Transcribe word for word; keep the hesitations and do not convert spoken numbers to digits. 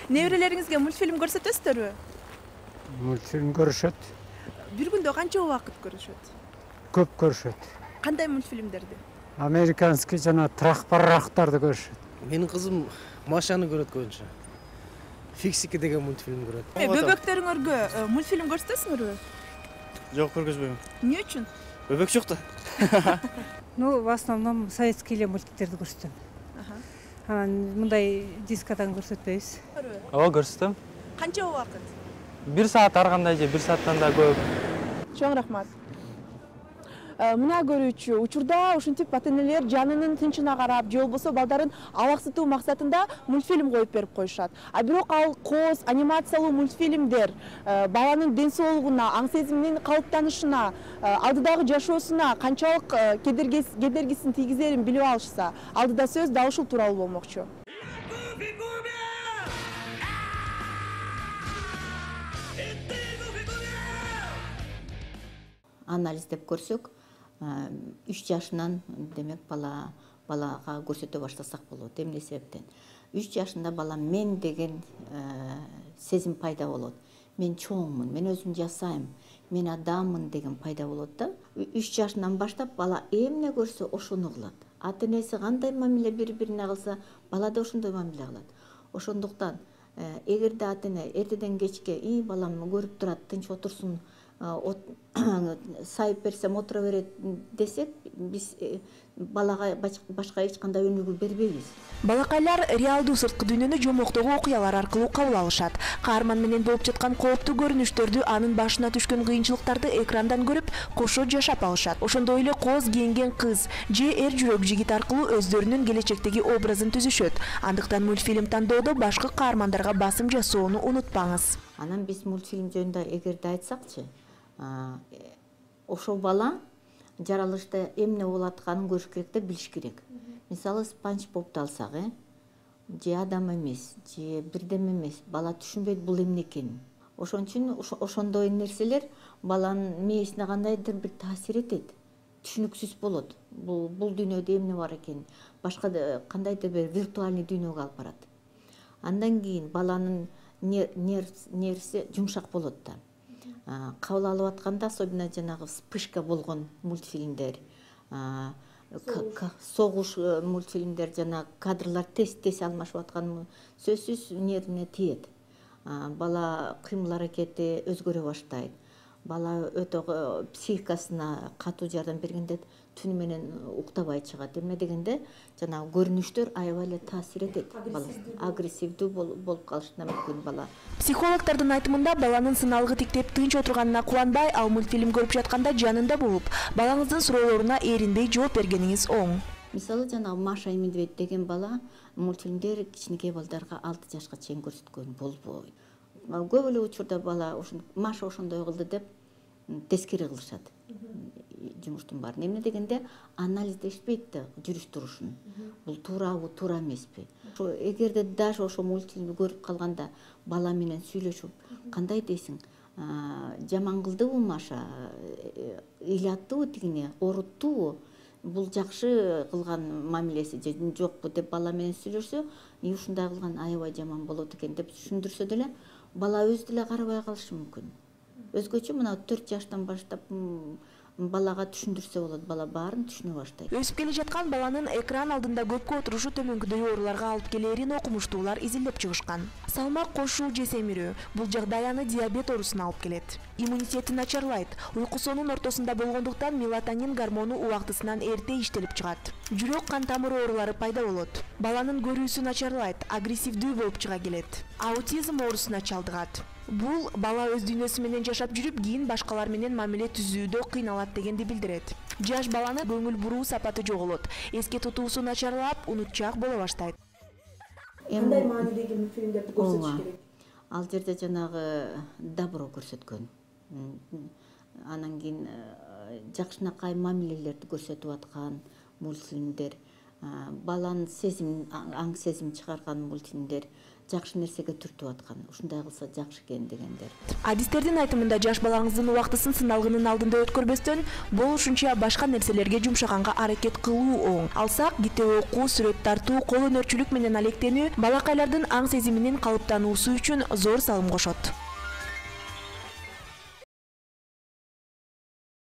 Неберелериңизге мультфильм көрсөтөсүздөрбү? Мультфильм көрүшөт. Бир күндө канча убакыт көрүшөт? Көп көрүшөт. Кандай мультфильмдерди? Американский жана трах-паррахтарды көрүшөт. Менин кызым Машаны көрөт көбүнчө. Фиксики деген мультфильм көрөт. Бөбөктөрүңөргө мультфильм көрсөтөсүңөрбү? Жок, көргөзбөйм. Эмне үчүн? Бөбөк жок да. Ну, в основном советский эле мультиктерди көрсөтөм. Анан мындай дискадан көрсөтпөйбүз. Ооба, көрсөтөм. Канча убакыт? бир саат ар кандай же бир сааттан да көп. Чоң рахмат. Мына көрүүчү учурда ушинтип ата-энелер жанынын тынчына карап, же болбосо балдарын алаксытуу максатында мультфильм коюп берип коюшат. А бирок ал кооз анимациялуу мультфильмдер баланын ден соолугуна, аң сезиминин калыптанышына, алдыдагы жашоосуна канчалык кедергисин тийгизерин билип алышса, алдыда сөз дал ушул тууралуу болмокчу. Анализдеп көрсөк, үч жашынан демек бала балага көрсөтө баштасак болот. Эмне себептен? үч жашында бала мен деген сезим пайда болот. Мен чоңмун, мен өзүм жасайм, мен адаммын деген пайда болот да. үч жашынан баштап бала эмне көрсө ошону кылат. Ата-энеси кандай мамиле бири-бирине кылса, бала да ошондой мамиле кылат. Ошондуктан эгерде ата-эне эртеден кечке "И балам көрүп турат, тынч отурсун, сайып берсем отура берет" десек, биз балага башка эч кандай өнүгүү бербейбиз. Балакайлар реалдуу сырткы дүйнөнү жомоктогу окуялар аркылуу кабыл алышат. Каарман менен болуп жаткан кооптуу көрүнүштөрдү, анын башына түшкөн кыйынчылыктарды экрандан көрүп, кошо жашап алышат. Ошондой эле кооз кийинген кыз же эр жүрөк жигит аркылуу өздөрүнүн келечектеги образын түзүшөт. Андыктан мультфильм тандоодо башкы каармандарга басым жасоону унутпаңыз. Анан биз мультфильм жөнүндө эгерде айтсакчы, ошол бала жаралышта эмне болуп атканын көрүш керек деп билиш керек. Мисалы Спанч Бобду алсак, э, же адам эмес, же бирдеме эмес, бала түшүнбөйт бул эмне экенин. Ошон үчүн ошондой нерселер баланын мээсине кандайдыр бир таасир этет. Түшүнүксүз болот. Бул бул дүйнөдө эмне бар экенин, башка кандайдыр бир виртуальный дүйнөгө алып барат. Андан кийин баланын нервси жумшак болот да. Кабыл алып атканда, особенно жанагы вспышка болгон мультфильмдер, согуш мультфильмдер, жана кадрлар тез-тез алмашып аткан сөзсүз нервине тиет. Бала кыймыл аракети өзгөрө баштайт. Бала өтө психикасына катуу жардам бергенде түнү менен уктабай чыгат. Эмне дегенде, жанагы көрүнүштөр аябай эле таасир этет. Бала агрессивдүү болуп калышына мүмкүн бала. Психологдордун айтымында, баланын сыналгы тиктеп тынч отурганына кубанбай, ал мультфильм көрүп жатканда жанында болуп, балаңыздын суроолоруна эринбей жооп бергениңиз оң. Мисалы, жанагы Маша и Медведь деген бала мультфильмдер кичинекей балдарга алты жашка чейин көрсөткөн болбойт. Көп эле учурда бала Маша ошондой кылды деп тескери кылышат жумуштун баарын. Эмне дегенде, анализдешпейт да жүрүш турушун. Бул туурабы, туура эмеспи? Эгерде даже ошо мультфильмди көрүп калганда бала менен сүйлөшүп, кандай дейсиң? Жаман кылдыбы Маша? Ыйлаттыбы тигине? Оруттубу? Бул жакшы кылган мамилеси же жокпу деп бала менен сүйлөшсө, и ушундай кылган аябай жаман болот экен деп түшүндүрсө деле, бала өзү деле карабай калышы мүмкүн. Өзгөчө мына төрт жаштан баштап балага түшүндүрсө болот, бала баарын түшүнө баштайт. Өсүп келе жаткан баланын экран алдында көпкө отурушу төмөнкүдөй ооруларга алып келерин окумуштуулар изилдеп чыгышкан. Салмак кошуу же семирүү бул жагдай аны диабет оорусуна алып келет. Иммунитети начарлайт. Уйкусунун ортосунда болгондуктан мелатонин гормону убактысынан эрте иштелип чыгат. Жүрөк кан тамыры оорулары пайда болот. Баланын көрүүсү начарлайт, агрессивдүү болуп чыга келет. Аутизм оорусуна чалдыгат. Бул бала өз дүйнөсү менен жашап жүрүп, кийин башкалар менен мамиле түзүүдө кыйналат дегенди билдирет. Жаш баланы көңүл буруу сапаты жоголот. Эске тутуусу начарлап, унутчаак боло баштайт. Кандай маанидеги мультфильмдерди көрсөтүш керек? Ал жерде жанагы добро көрсөткөн. Анан кийин жакшынакай мамилелерди көрсөтүп аткан мультфильмдер, баланын сезим, аң сезим чыгарган мультфильмдер жакшы нерсеге түртүп аткан. Ушундай кылса жакшы экен дегендер. Адистердин айтымында жаш балаңыздын убактысын сыналгынын алдында өткөрбөстөн, болушунча башка нерселерге жумшаганга аракет кылуу оң. Алсак, китеп окуу, сүрөт тартуу, кол өнөрчүлүк менен алектенүү балакайлардын аң сезиминин калыптануусу үчүн зор салым кошот.